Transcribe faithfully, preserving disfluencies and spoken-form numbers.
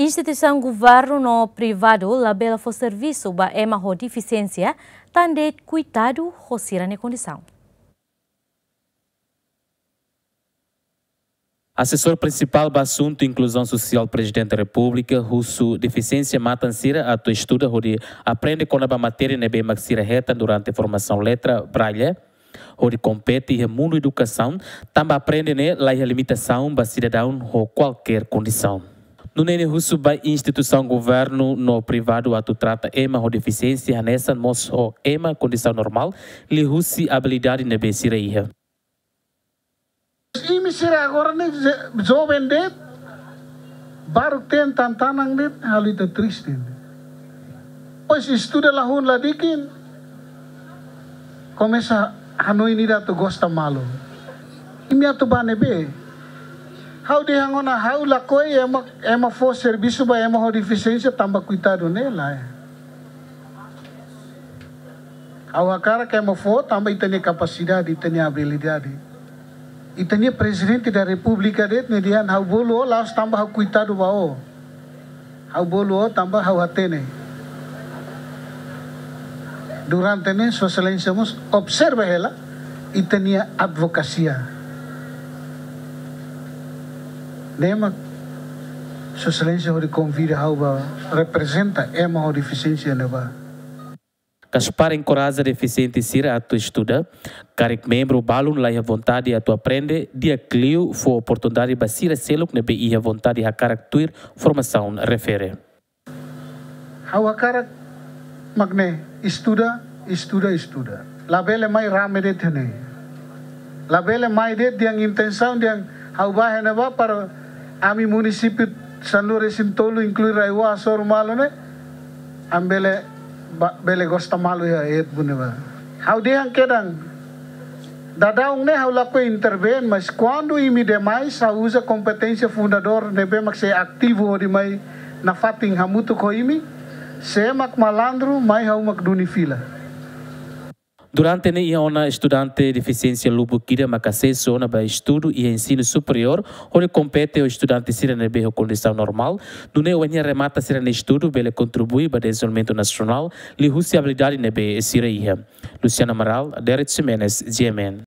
Instituisaun governu no privadu labele fó servisu ba ema ho defisiénsia, tan de'it kuidadu ho sira-nia kondisaun. Asesór Prinsipál ba Asuntu Inkluzaun Sosiál Prezidente Repúblika husu defisiénsia matan sira atu estuda hodi aprende kona-ba matéria ne'ebé mak sira hetan durante formasaun letra Braille, hodi kompete iha mundu edukasaun, tanba aprende ne'e laiha limitasaun ba sidadaun ho kualkér kondisaun. Nune'e nia husu ba instituisaun governu no privadu atu trata ema ho defisiénsia hanesan mós ho ema kondisaun normál, liuhusi abilidade ne'ebé sira iha. Imi sira agora ne'e je-, joven de'it, baru ten tantanan de'it, halo ita triste. Pois estuda la hun la dikin, komesa hanoin ida atu gosta malu. Imi atu bá ne'ebé? Ha'u dehan ona ha'u lakohi ema, ema fó servisu ba ema ho defisiénsia tanba kuidadu ne'e lae. Ha'u hakarak ema fó tanba ita-nia kapasidade, ita-nia abilidade. Ita-nia Prezidente da Repúblika de'it nia dehan ha'u bolu ó la'ós tanba ha'u kuidadu ba ó. Ha'u bolu ó tanba ha'u hatene. Durante ne'e Sua Exelénsia mós observa hela ita-nia advokasia. Ne'e mak Sua Exelénsia hodi konvida ha'u bá reprezenta ema ho defisiénsia ne'ebá. Gaspar enkoraja defisiente sira atu estuda, karik membru balun laiha vontade atu aprende, di'ak liu fó oportunidade ba sira seluk ne'ebé iha vontade hakarak tuir formasaun refere. Ha'u hakarak mak ne'e, estuda, estuda, estuda. Labele mai rame de'it iha ne'e. Labele mai de'it dehan intensaun dehan ha'u bá iha ne'ebá para ami munisípiu sanulu-resin-tolu inklui RAEOA hasoru malu ne'e, ami bele ba-, bele gosta malu iha eet bune ba. Ha'u dehan kedan, daudaun ne'e ha'u lakohi intervén, mas kuandu imi demais, ha'u uza kompeténsia fundadór ne'ebé mak sei ativu hodi mai nafatin hamutuk ho imi, sé mak malandru, mai ha'u mak duni fila. Durante ne'e iha ona estudante defisiénsia lubuk ida mak asesu ona ba estudu iha ensinu superiór, hodi kompete ho estudante sira ne'ebé ho kondisaun normál, nune'e ohin nia remata sira-nia estudu bele kontribui ba dezenvolvimentu nasionál, liuhusi abilidade ne'ebé sira iha. Luciano Amaral, Derek Ximenes, G M N.